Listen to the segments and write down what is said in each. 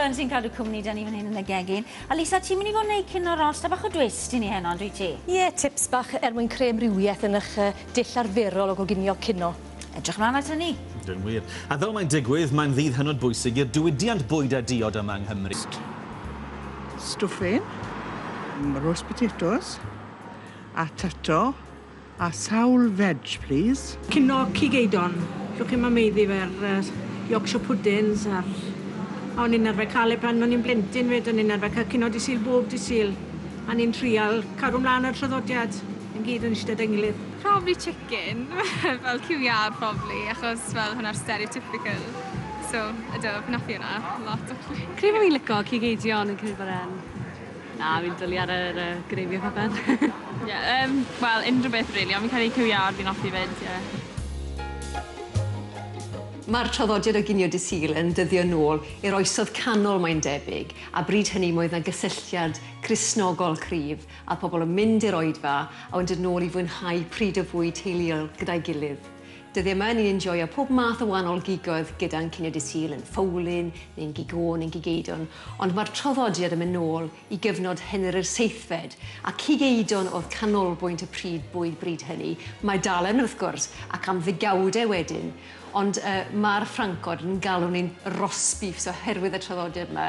Burns sy'n cadw cwmni 'da ni fan hyn yn y gegin. A Lisa, ti'n mynd i fod yn neud cinio rost a bach o dwist i ni heno, yndwyt ti? Ie, tips bach er mwyn creu amrywieth yn 'ych dull arferol o goginio cino. Edrych mlaen at hynny. Ydyn wir. A fel mae'n digwydd, mae'n ddydd hynod bwysig i'r diwydiant bwyd a diod yma yng Nghymru. Stwffin, roast potatoes, a tato, a sawl veg, please. Cino cig eidon. Llwch chi'm yn maeddu fe'r Yorkshire puddings a'r... A o'n i'n arfer cael e pan o'n i'n blentyn 'fyd, o'n i'n arfer cael cino Dydd Sul bob Dydd Sul. A ni'n trial cadw mlaen â'r traddodiad, yn gyd yn eistedd 'da'n gilydd. Probably chicken, fel cyw iâr probably, achos fel hwnna'r stereotypical. So, ydw, fi'n hoffi hwnna lot actually. Credu bo' fi'n lico cig eidion yn credu bod e'n... Na, fi'n dwli ar yr gravy a popeth. Ie, wel, unrhyw beth really, ond fi'n credu cyw iâr fi'n hoffi 'fyd, ie. Mae'r traddodiad o ginio Dydd Sul yn dyddio nôl i'r oesoedd canol mae'n debyg, a bryd hynny mi oedd 'na gysylltiad Cristnogol cryf, a pobl yn mynd i'r oedfa a wedyn dod nôl i fwynhau pryd o fwyd teuluol gyda'i gilydd. Dyddiau yma ni'n enjoio pob math o wahanol gigoedd gyda'n cinio Dydd Sul, yn ffowlyn, neu'n gig oen, neu'n gig eidon, ond mae'r traddodiad yn mynd nôl i gyfnod Henry'r Seithfed, a cig eidon oedd canolbwynt y pryd bwyd bryd hynny. Mae dal yn, wrth gwrs, ac am ddegawdau wedyn, ond mae'r Ffrancod yn galw ni'n roast beefs oherwydd y traddodiad yma,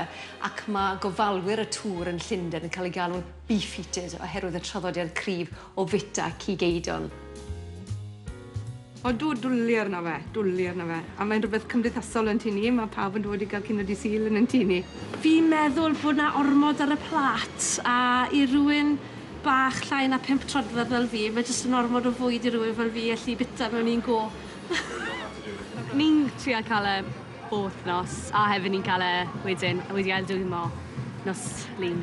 ac mae gofalwyr y tŵr yn Llundain yn cael eu galw'n beef eaters oherwydd y traddodiad cryf o fwyta cig eidon. Odw, dwli arno fe, dwli arno fe. A mae'n rhywbeth cymdeithasol yn tŷ ni, mae pawb yn dod i gael cinio Dydd Sul yn ein tŷ ni. Fi'n meddwl bod 'na ormod ar y plât, a i rywun bach llai na 5 troedfedd fel fi, mae jyst yn ormod o fwyd i rywun fel fi allu bita mewn un go. Ni'n trio cael e bob wythnos, a hefyd ni'n cael e wedyn, wedi aildwymo nos Lun.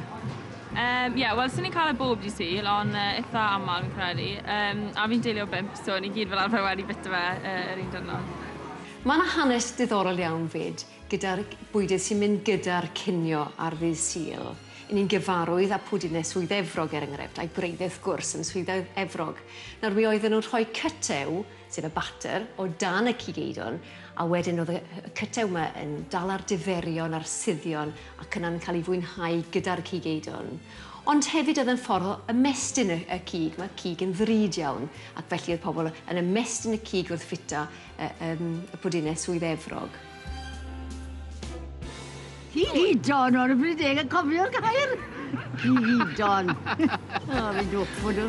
Ie, wel, swn i'n cael e bob dydd Sul, ond eitha aml fi'n credu. A fi'n deulu o 5, so ni gyd fel arfer wedi bita fe yr un diwrnod. Mae yna hanes diddorol iawn fyd gyda'r bwydydd sy'n mynd gyda'r cinio ar ddydd Sul. 'Y ni'n gyfarwydd â pwdinau Swydd Efrog er enghraifft, a'i gwreiddiau wrth gwrs yn Swydd Efrog. Nawr mi oedden nhw'n rhoi cytew, sef y batter, o dan y cig eidon, a wedyn oedd y cytew yma yn dal ar diferion a'r suddion ac yna'n cael ei fwynhau gyda'r cig eidon. Ond hefyd oedd yn ffordd o ymestyn y cig, mae cig yn ddrud iawn, ac felly oedd pobl yn ymestyn y cig wrth fwyta y pwdinau Swydd Efrog. Cig eidon, o'n i'n bryd deg yn cofio'r gair. Cig eidon. O, fi'n dwffo nhw.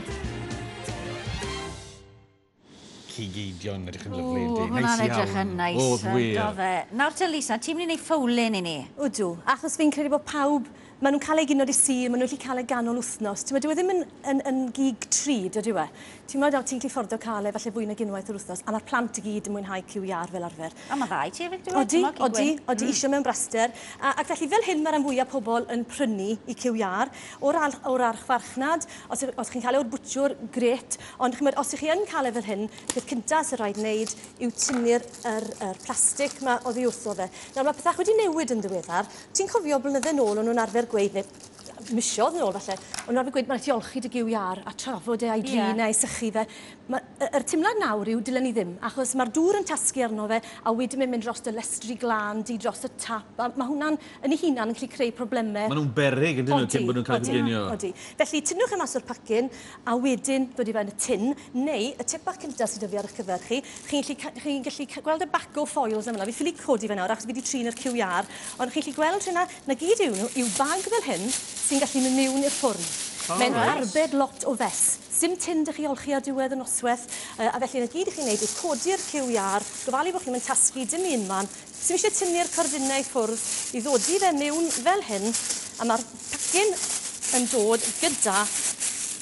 Cig eidion, edrych yn O, lyfli, yndi. hwnna'n Neis edrych iawn. yn neis, Oedd wir. do fe. Nawr te, Lisa, ti'n mynd i wneud ffowlyn i ni? Ydw, achos fi'n credu bod pawb, maen nhw'n cael ei ginio Dydd Sul, maen nhw'n gallu cael ei ganol wythnos. Ti'n dyw e ddim yn gig drud, ydyw e? Ti'n meddwl, ti'n gallu fforddio cael e falle fwy nag unwaith yr wythnos, a mae'r plant i gyd yn mwynhau cyw iâr fel arfer. A mae dda i ti hefyd, dyw e? Odi, Ti'n meddwl, cig odi, gwyn? odi, isio mewn braster. Ac felly fel hyn mae rhan fwyaf pobl yn prynu i cyw iâr o'r archfarchnad. Os chi'n cael e o'r bwtsiwr, grêt. Ond chimod, os ych chi yn cael e fel hyn, peth cynta sy'n rhaid wneud yw tynnu'r yr plastig ma oddi wrtho fe. Nawr mae pethau wedi newid yn ddiweddar. Ti'n cofio blynydde nôl o'n nhw'n arfer gweud, neu misoedd nôl falle, o'n nhw'n arfer gweud, mae'n rhaid ti olchi dy gyw iâr a trafod e a'i drin e a'i sychu fe. Yr teimlad nawr yw dylen ni ddim, achos mae'r dŵr yn tasgu arno fe, a wedyn mae'n mynd dros y lestri glân, di dros y tap, a mae hwnna'n yn ei hunan yn gallu creu problemau. Maen nhw'n beryg, ydyn nhw, cyn bod nhw'n cael eu Odi, coginio. odi. Felly, tynnwch e mas o'r pacyn, a wedyn dod i fewn y tin, neu y tip bach cyntaf sydd 'da fi ar eich cyfer chi, chi'n gallu gweld y bag o foils yma. Fi ffili codi fe nawr, achos fi wedi trin yr cyw iâr, ond chi'n gallu gweld hynna, na gyd yw nhw, yw bag fel hyn, sy'n gallu mynd mewn i'r ffwrn. Mae'n arbed lot o fes. Sim tin dych chi olchi ar diwedd y noswaith, a felly na gyd i chi'n neud yw codi'r cyw iâr, gofalu bod chi'n mynd tasgu dim un man. Sim eisiau tynnu'r cordynau i ffwrdd, i ddodi fe mewn fel hyn, a mae'r pacyn yn dod gyda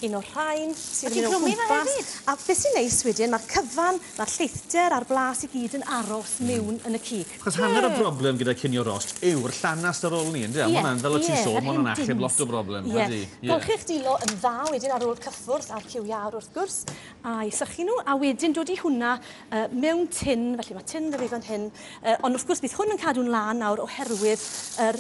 un o'r rhain sydd A yn ti'n mynd o clwmu fe gwmpas. hefyd? A beth sy'n neis wedyn, mae'r cyfan, mae'r lleithder a'r blas i gyd yn aros mewn yn y cig. Achos hanner y broblem gyda cinio rost yw'r llanast ar ôl ni, ynde? A Ie, ma' hwnna'n, fel o ti'n sôn, yr ma' hwnna'n hen achub dins. lot o broblem, ydy? Ie. Golchi'ch dwylo yn dda wedyn ar ôl cyffwrdd a'r cyw iâr wrth gwrs, a i sychu nhw, a wedyn dod i hwnna mewn tin, felly mae tin 'da fi fan hyn, ond wrth gwrs bydd hwn yn cadw'n lân nawr oherwydd yr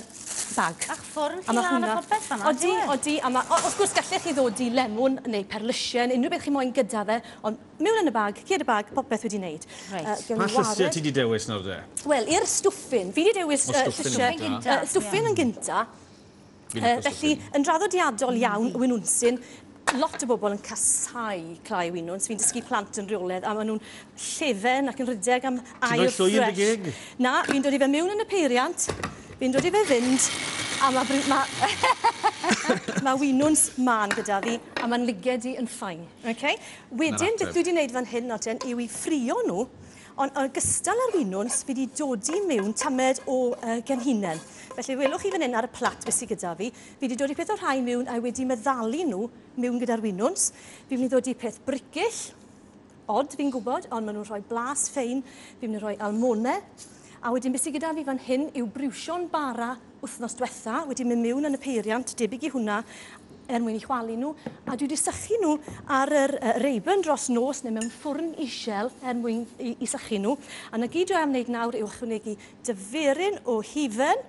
bag. Ach, ffwrn chi lan a popeth fan'na. Odi, odi, a ma', wrth gwrs gallech chi ddodi lemwn neu perlysien, unrhyw beth chi moyn gyda fe, ond mewn yn y bag, cur y bag, popeth wedi wneud. Reit. Pa llysiau ti 'di dewis nawr de? Wel, i'r stwffin, fi 'di dewis llysiau... Stwffin yn gynta. Felly, yn draddodiadol iawn, winwnsyn, lot o bobl yn casáu clai winwns. Fi'n dysgu plant yn rheolaidd a maen nhw'n llefen ac yn rhedeg am aer ffres. Ti'n rhoi llwy yn dy geg? Na, fi'n dod i fe mewn yn y peiriant, fi'n dod i fe fynd, a mae ma, ma winwns mân gyda fi, a mae'n liged i yn fine. Okay? Wedyn, beth dwi wedi gwneud fan hyn, Nodyn, yw i ffrio nhw, ond yn ogystal â'r winwns, fi wedi dodi mewn tamed o genhinen. Felly, welwch chi fan hyn ar y plat beth sydd gyda fi. Fi wedi dodi peth o'r rhai mewn a wedi meddalu nhw mewn gyda'r winwns. Fi'n mynd i ddodi peth bricyll, od fi'n gwybod, ond maen nhw'n rhoi blas ffein. Fi'n mynd i rhoi almone. A wedyn beth sydd gyda fi fan hyn yw briwsion bara wythnos diwetha, wedi mynd mewn yn y peiriant, debyg i hwnna, er mwyn i chwalu nhw, a dwi wedi sychu nhw ar yr reiben dros nos neu mewn ffwrn isel er mwyn i sychu nhw. A 'na gyd dwi am wneud nawr yw ychwanegu dyferyn o hufen,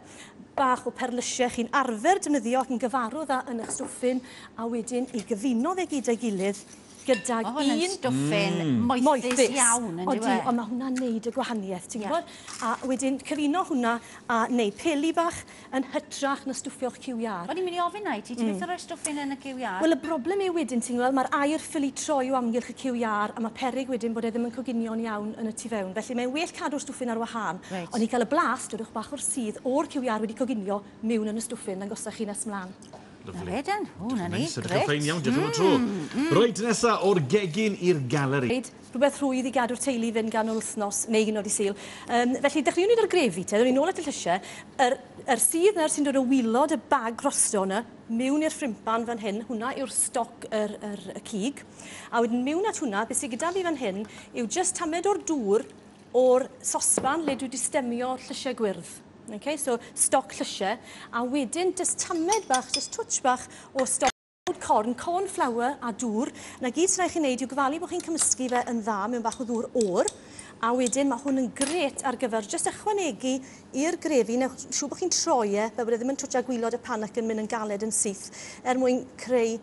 bach o perlysiau chi'n arfer defnyddio ac yn gyfarwydd â yn eich stwffin, a wedyn i gyfuno fe gyda'i gilydd gydag un... Mae hwn yn stwffin moethus iawn, yn dyw e? Odi, ond mae hwnna'n neud y gwahaniaeth, ti'n gwybod? A wedyn cyfuno hwnna a neud peli bach yn hytrach na stwffio'ch cyw iâr. O'n i'n mynd i ofyn 'na i ti, ti byth yn rhoi stwffin yn y cyw iâr? Wel, y broblem yw wedyn, ti'n gweld, mae'r aer ffili troi o amgylch y cyw iâr a mae peryg wedyn bod e ddim yn coginio'n iawn yn y tu fewn. Felly mae'n well cadw'r stwffin ar wahân. Ond i gael y blas, dodwch bach o'r sudd o'r cyw iâr wedi coginio mewn yn y stwffin, dangosach chi nes mlaen. Na fe den. O, na ni. Grêt. Edrych yn ffein iawn, diolch am y tro. Reit, nesa, o'r gegin i'r galeri. Rhywbeth rhwydd i gadw'r teulu i fynd ganol wythnos neu hyd yn oed i Sul. Felly, dechreuwn ni 'da'r grefi te, ddown ni nôl at y llysiau. Yr sudd nawr sy'n dod o wilod y bag rosto 'na, mewn i'r ffrimpan fan hyn, hwnna yw'r stoc yr, yr, y cig. A wedyn mewn at hwnna, beth sydd gyda fi fan hyn yw jyst tamed o'r dŵr o'r sosban le dwi wedi stemio llysiau gwyrdd. Okay, so stoc llysiau, a wedyn jyst tamed bach, jyst twtsh bach o stoc corn, corn flour a dŵr. 'Na gyd sy'n rhaid chi wneud yw gofalu bod chi'n cymysgu fe yn dda mewn bach o ddŵr oer, a wedyn mae hwn yn grêt ar gyfer jyst ychwanegu i'r grefi, newch siŵr bod chi'n troi e, fel bod e ddim yn twtsio gwilod y pan ac yn mynd yn galed yn syth, er mwyn creu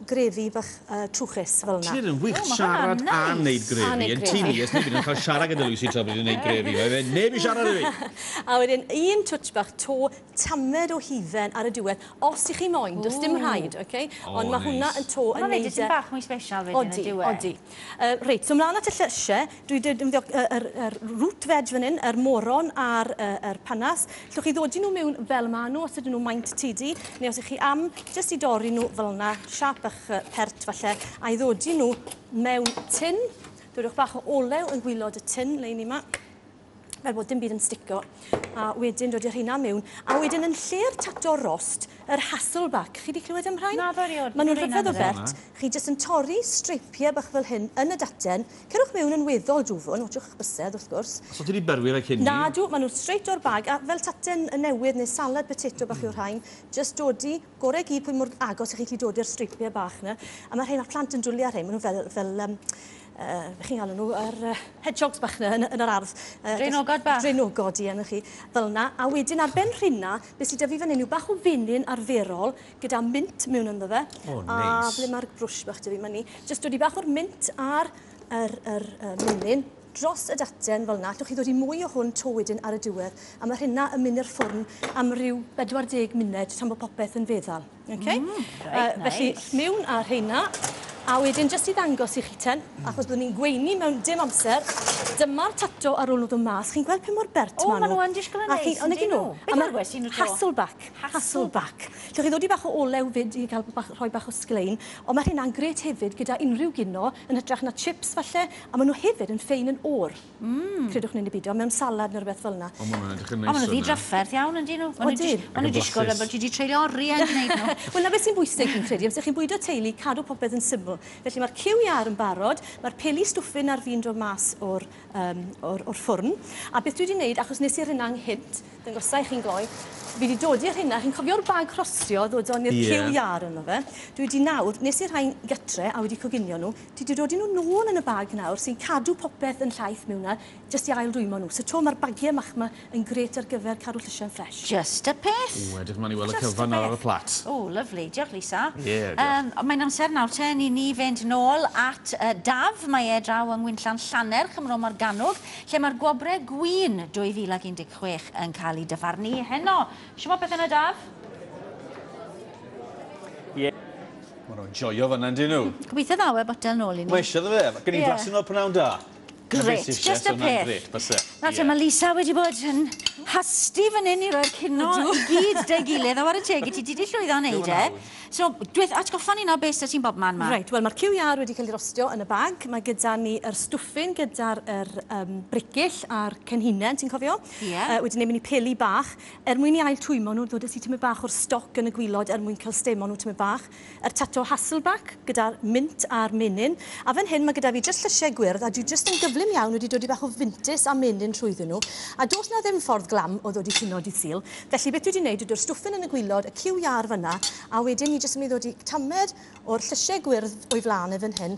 grefi bach trwchus fel yna. Ti'n neud yn wych siarad a neud grefi. Yn tŷ ni, oes neb yn cael siarad gyda Lucy tra bod hi'n neud grefi. Mae fe neb i siarad i fi. A wedyn un twtsh bach to tamed o hufen ar y diwedd, os ych chi moyn, does dim rhaid, oce? Ond mae hwnna yn to yn neud e... Mae'n bach mwy special wedyn yn diwedd. Odi, odi. Reit, so mlaen at y llysiau, dwi wedi defnyddio yr root veg fan hyn, yr moron a'r panas. Llwch chi ddodi nhw mewn fel maen nhw, os ydyn nhw maint tidy, neu os ych chi am jyst i dorri nhw fel yna, siâp bach pert falle, a i ddodi nhw mewn tin. Dodwch bach o olew yn gwilod y tin, lein i ma, fel bod dim byd yn stico. A wedyn dod i'r rheina mewn. A wedyn yn lle'r tato rost, yr Hasselback. Chi wedi clywed am rhain? Na, erioed. Maen nhw'n rhyfedd o bert. Chi jyst yn torri streipiau bach fel hyn yn y daten. Cerwch mewn yn weddol dwfwn, watchwch eich bysedd wrth gwrs. So ti wedi berwi fe cyn ni? Na, dw, maen nhw'n straight o'r bag. A fel taten newydd neu salad potato bach yw'r rhain, jyst dodi, gorau gyd pwy mor agos ych chi'n gallu dodi'r streipiau bach yna. A mae rhain, mae'r plant yn dwlu ar rhain, maen nhw fel chi'n galw nhw, yr hedgehogs bach yna yn yr ardd. Draenogod bach. Draenogod, ie, na chi, fel yna. A wedyn ar ben rhina, beth sydd 'da fi fan hyn yw bach o fenyn arferol gyda mint mewn ynddo fe. O, neis. A ble mae'r brwsh bach 'da fi, mae ni. Jyst dod i bach o'r mint a'r yr, menyn dros y daten fel yna. Allwch chi ddod i mwy o hwn to wedyn ar y diwedd. A mae rhina yn mynd i'r ffwrn am ryw 40 munud tan bod popeth yn feddal. Okay? Reit, Felly, nice. mewn â rheina. A wedyn, jyst i ddangos i chi ten, achos byddwn ni'n gweini mewn dim amser, dyma'r tato ar ôl nhw ddod mas. Chi'n gweld pa mor bert O, maen maen nhw yn disgwyl yn A chi- neis, ond yndyn nhw. nhw? Beth A ma' yw'r gwesti nhw to? Hasselback. Hasselback. Llwch chi ddod i bach o olew fyd i gael bach, rhoi bach o sglein, ond mae rheina'n grêt hefyd gyda unrhyw gino, yn hytrach na chips falle, a maen nhw hefyd yn ffein yn oer. Credwch neu'n beidio, mewn salad neu rhywbeth fel yna. O, ma' hwnna'n edrych yn O, neis maen nhw'n hwnna. ddidrafferth iawn, yndyn nhw? Maen nhw'n Odyn. maen nhw'n disgwyl fel bod ti wedi treulio oriau yn gwneud nhw. Wel, na beth sy'n bwysig fi'n credu, amser chi'n bwydo teulu, cadw popeth yn syml. Felly mae'r cyw iâr yn barod, mae'r peli stwffin ar fin dod mas o'r ffwrn. A beth dwi wedi wneud, achos nes i'r hynna ynghynt, Dangosa i chi'n gloi. Fi wedi dodi'r hynna, chi'n cofio'r bag rhostio ddodon ni'r cyw iâr yno fe. Dwi wedi nawr, nes i'r rhain gytre a wedi coginio nhw, dwi wedi dodi nhw nôl yn y bag nawr sy'n cadw popeth yn llaith mewn 'na, jyst i ail-dwymo nhw. So 'to mae'r bagiau mach 'ma yn grêt ar gyfer cadw llysiau'n ffresh. Just y peth. Ww, edrych mlaen i weld y cyfan nawr ar y plat. O, lyfli. Diolch, Lisa. Ie, diolch. Mae'n amser nawr te i ni fynd nôl at Daf. Mae e draw yng Ngwinllan Llannerch ym Mro Morgannwg, lle mae'r Gwobrau Gwin 2016 yn cael eu dyfarnu heno. Shwmae pethe 'na, Daf? Ie. Maen nhw'n joio fan'na, yndyn nhw? Gobeithio ddaw e botel nôl i ni. Mae eisiau iddo fe. Gen i flasu nôl prynawn da. Grêt, just y peth. Grêt, byse. Nawr te, mae Lisa wedi bod yn hasty fan hyn i roi'r cino i gyd 'da'i gilydd, a whare teg i ti, ti 'di llwyddo wneud e. So, dweth, atgoffa ni nawr beth sy 'da ti'n bobman 'ma. Reit, wel mae'r cyw iâr wedi cael ei rostio yn y bag. Mae gyda ni yr stwffin gyda'r yr, bricyll a'r cenhinen, ti'n cofio? Ie. Wedi wneud mynd i peli bach. Er mwyn i ail twymo nhw, ddodes i tymed bach o'r stoc yn y gwilod er mwyn cael stemo nhw tymed bach. Yr tato Hasselback gyda'r mint a'r menyn. A fan hyn mae gyda fi jyst llysiau gwyrdd a dwi jyst yn gyflym iawn wedi dod i bach o fintys a menyn trwyddyn nhw. A does na ddim ffordd glam o ddod i cino dydd Sul. Felly beth dwi wedi wneud yw dod stwffin yn y gwilod, y cyw iâr fan'na, a wedyn ni jyst yn mynd i ddod i tamed o'r llysiau gwyrdd o'i flaen e fan hyn.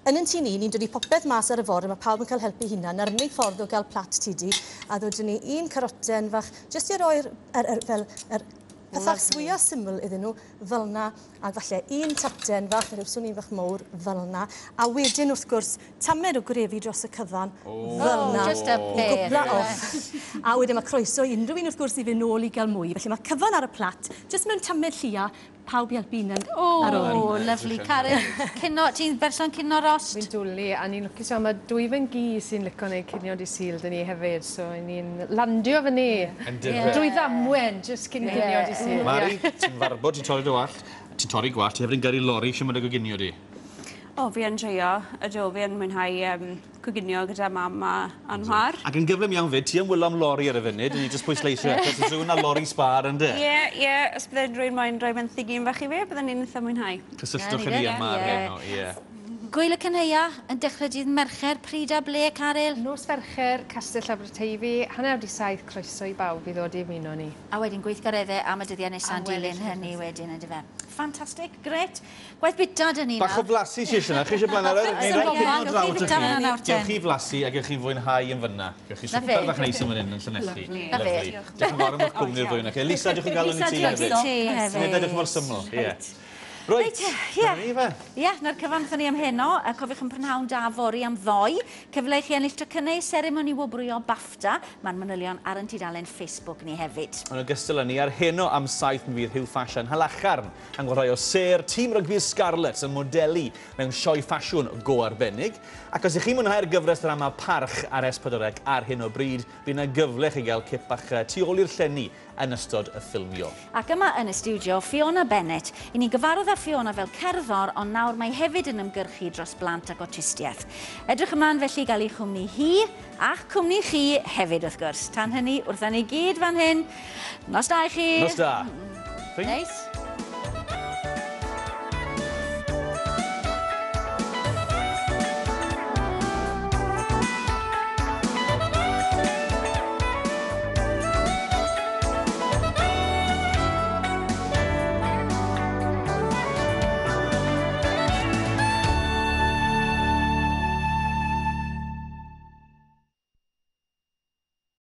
Yn yn tŷ ni, ni'n dod i popeth mas ar y ford a mae pawb yn cael helpu hunan. Na'r unig ffordd o gael plat tidu. A ddodwn ni un caroten fach, jyst i roi'r, fel, yr pethau fwya syml iddyn nhw, fel 'na, a falle un taten fach, neu rhyw un fach mowr, fel 'na. A wedyn, wrth gwrs, tamed o grefi dros y cyfan, fel 'na. Just y peth. I gwpla off. A wedyn mae croeso i unrhyw un, wrth gwrs, i fynd nôl i gael mwy. Felly mae cyfan ar y plat, jyst mewn tamed llia, pawb i helpu hunan ar ôl. O, lyfli. Karen, cino, ti'n berson cino rost? Fi'n dwlu, a ni'n lwcus iawn, mae dwy fy nghi sy'n licio wneud cinio dydd Sul 'da ni hefyd, so ni'n landio fyny. Drwy ddamwen, jyst cyn cinio dydd Sul. Mari, ti'n farbod, ti'n torri dy wallt, ti'n torri gwallt, ti hefyd yn gyrru lori, eisiau mynd â goginio di? O, fi yn joio, ydw, fi yn mwynhau coginio gyda mam a chwaer. Ac yn gyflym iawn fyd, ti yn wylo am lori ar y funud, ni jyst pwysleisio eto, ti'n sôn na lori sbâr yndê? Ie, ie, os bydde rhywun moyn rhoi benthyg un fach i fi, bydden ni'n eitha mwynhau. Cysylltwch â ni yma ar heno, ie. Gwyl y Cynhaea yn dechrau dydd Mercher, pryd a ble, Caryl? Nos Fercher, Castell Aberteifi, 7:30, croeso i bawb i ddod i ymuno ni. A wedyn gweithgareddau am y dyddiau nesaf yn dilyn hynny wedyn, yndyfe? Ffantastig, grêt. Gwaith bita dyn ni nawr. Bach o flasu sy eisiau yna, chi eisiau blaen ar yr... Neu rai cino draw at chi. Gewch chi flasu a gewch chi fwynhau yn fyna. Gewch chi swper fach neis yn fan hyn yn Llanelli. Lyfli. Diolch yn fawr am eich cwmni i'r ddwy yna chi. Lisa, diolch yn galon i ti hefyd. Lisa, diolch i ti hefyd. Nid edrych mor syml, ie. Reit, ie. Ie, na'r cyfan wrthon ni am heno. Cofiwch yn prynhawn da fory am ddoe. Cyfle i chi ennill tocynnau seremoni wobrwyo BAFTA. Mae'r manylion ar ein tudalen Facebook ni hefyd. Yn ogystal â ni, ar heno am 7 mi fydd Huw Ffasiwn Halacharn yn gwrdd rhai o sêr tîm rygbi'r Scarlets yn modelu mewn sioe ffasiwn go arbennig. Ac os ych chi'n mwynhau'r gyfres ddrama Parch ar S4C ar hyn o bryd, bydd yna gyfle chi gael cip bach tu ôl i'r llenni yn ystod y ffilmio. Ac yma yn y stiwdio, Fiona Bennett. I ni gyfarwydd â Fiona fel cerddor, ond nawr mae hefyd yn ymgyrchu dros blant ac awtistiaeth. Edrych ymlaen felly i gael ei chwmni hi a'ch cwmni chi hefyd wrth gwrs. Tan hynny, wrthon ni gyd fan hyn. Nos da i chi. Nos da. Neis.